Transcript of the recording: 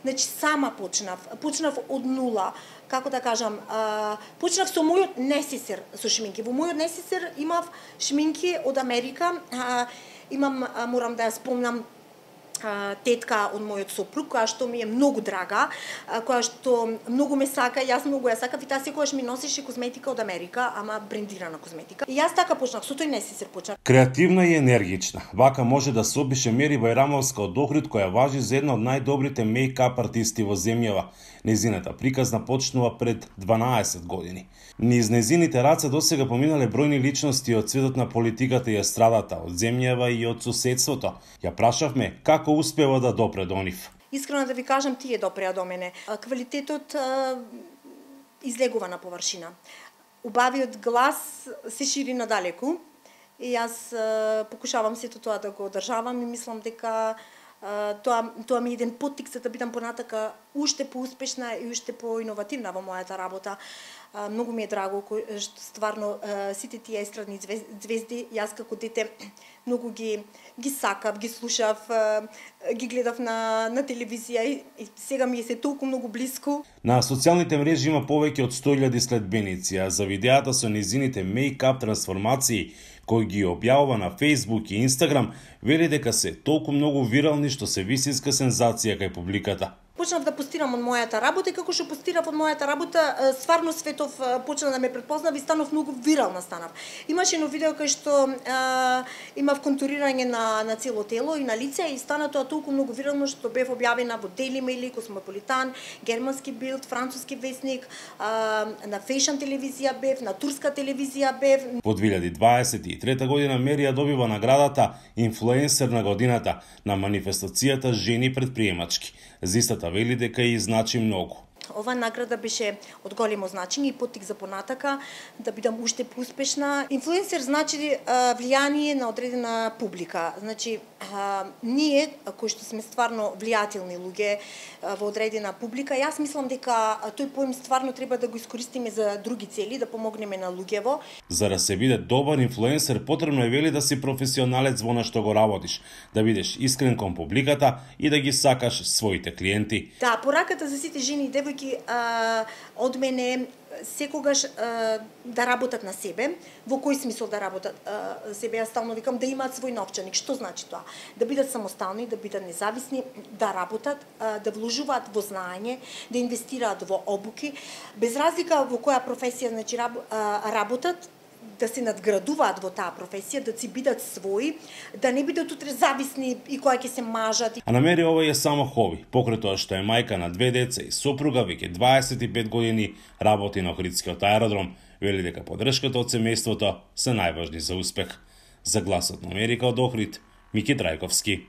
Значи сама почнав од нула. Како да кажам, почнав со мојот несесер со шминки. Во мојот несесер имав шминки од Америка. Имам, морам да ја спомнам, тетка од мојот сопруг, која што ми е многу драга, која што многу ме сака, јас многу ја сакав и таа секогаш ми носеше козметика од Америка, ама брендирана козметика. И јас така почнав, со тој несесер почнав. Креативна и енергична, вака може да се опише Мери Бајрамовска од Охрид, која важи за една од најдобрите мејкап артисти во земјава. Незината приказна почнува пред 12 години. Низ незините раце досега поминале бројни личности од светот на политиката и естрадата, од земјава и од соседството. Ја прашавме како успева да допре до нив. Искрено да ви кажам, тие допреа до мене. Квалитетот излегува на површина. Убавиот глас се шири надалеку и јас покушавам сето тоа да го одржавам и мислам дека тоа ми е еден поттик за да бидам понатака уште поуспешна и уште поиновативна во мојата работа. Многу ми е драго што стварно сите тие естрадни звезди, јас како дете многу ги сакав, ги слушав, ги гледав на телевизија и сега ми е се толку многу блиску. На социјалните мрежи има повеќе од 100.000 следбеници, а за видеата со незините мејкап трансформации кои ги објавува на Facebook и Instagram, вели дека се толку многу вирални што се вистинска сензација кај публиката. Почнав да постирам од мојата работа и како што постирав од мојата работа, стварно светов почна да ме претпознава и станав многу вирална станав. Имаше едно видео кај што имав контурирање на цело тело и на лице и стана тоа толку многу вирално што бев објавена во Daily Mail, Космополитан, германски Билд, француски весник, на Fashion телевизија бев, на турска телевизија бев. Во 2023 година Мери ја добива наградата Инфлуенсер на годината на манифестацијата Жени предприемачки. За истата вели дека и значи многу. Ова награда беше од големо значење и поттик за понатака да бидам уште поуспешна. Инфлуенсер значи влијание на одредена публика. Значи ние кои што сме стварно влијателни луѓе во одредена публика, јас мислам дека тој поим стварно треба да го искористиме за други цели, да помогнеме на луѓево. За да се биде добар инфлуенсер, потребно е вели да си професионалец во нешто го работиш, да бидеш искрен кон публиката и да ги сакаш своите клиенти. Да, пораката за сите жени и девојки од мене секогаш да работат на себе. Во кој смисол да работат себе? Јас стално викам да имаат свој новчаник. Што значи тоа? Да бидат самостални, да бидат независни, да работат, да вложуваат во знаење, да инвестираат во обуки, без разлика во која професија значи работат, да се надградуваат во таа професија, да си бидат своји, да не бидат утре зависни и која ќе се мажат. А на Мери ова е само хоби, покрај тоа што е мајка на 2 деца и сопруга, веќе 25 години работи на Охридскиот аеродром, вели дека поддршката од семејството се најважни за успех. За Гласот на Америка од Охрид, Мики Трајковски.